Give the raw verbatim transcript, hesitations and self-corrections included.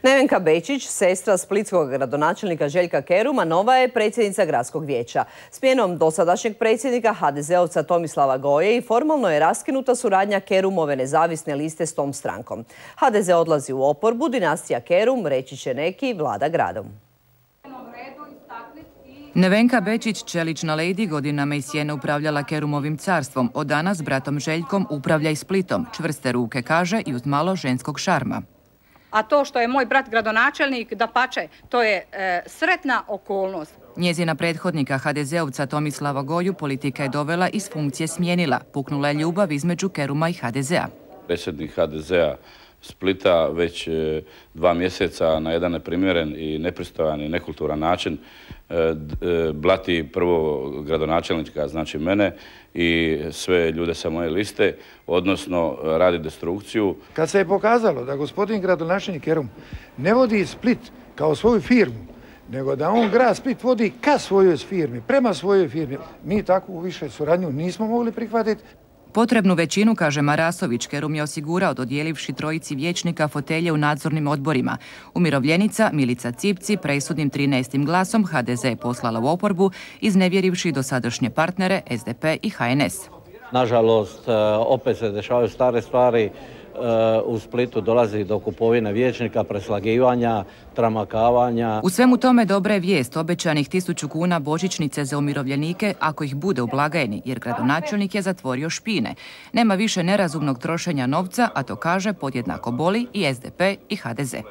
Nevenka Bečić, sestra splitskog gradonačelnika Željka Keruma, nova je predsjednica gradskog vijeća. Smjenom dosadašnjeg predsjednika ha de ze ovca Tomislava Goje i formalno je raskinuta suradnja Kerumove nezavisne liste s tom strankom. ha de ze odlazi u oporbu, dinastija Kerum, reći će neki, vlada gradom. Nevenka Bečić, čelična lejdi, godinama iz sjene upravljala Kerumovim carstvom. Od danas s bratom Željkom upravlja i Splitom. Čvrste ruke, kaže, i uz malo ženskog šarma. A to što je moj brat gradonačelnik, dapače, to je e, sretna okolnost. Njezina prethodnika ha de ze ovca Tomislava Goju politika je dovela i s funkcije smijenila. Puknula je ljubav između Keruma i ha de zea. Predsjednik ha de zea Splita već dva mjeseca na jedan neprimjeren i nepristojan i nekulturan način blati prvo gradonačelnika, znači mene, i sve ljude sa moje liste, odnosno radi destrukciju. Kad se je pokazalo da gospodin gradonačelnik Kerum ne vodi Split kao svoju firmu, nego da on grad Split vodi ka svojoj firmi, prema svojoj firmi, mi takvu više suradnju nismo mogli prihvatiti. Potrebnu većinu, kaže Marasović, Kerum je osigurao dodijelivši trojici vijećnika fotelje u nadzornim odborima. Umirovljenica Milica Cipci presudnim trinaestim glasom ha de ze je poslala u oporbu, iznevjerivši dosadašnje partnere es de pe i ha en es. Nažalost, opet se dešavaju stare stvari. U Splitu dolazi do kupovine vijećnika, preslagivanja, tramakavanja. U svemu tome dobra je vijest obećanih tisuću kuna božićnice za umirovljenike ako ih bude u blagajni, jer gradonačelnik je zatvorio špine. Nema više nerazumnog trošenja novca, a to, kaže, podjednako boli i es de pe i ha de ze.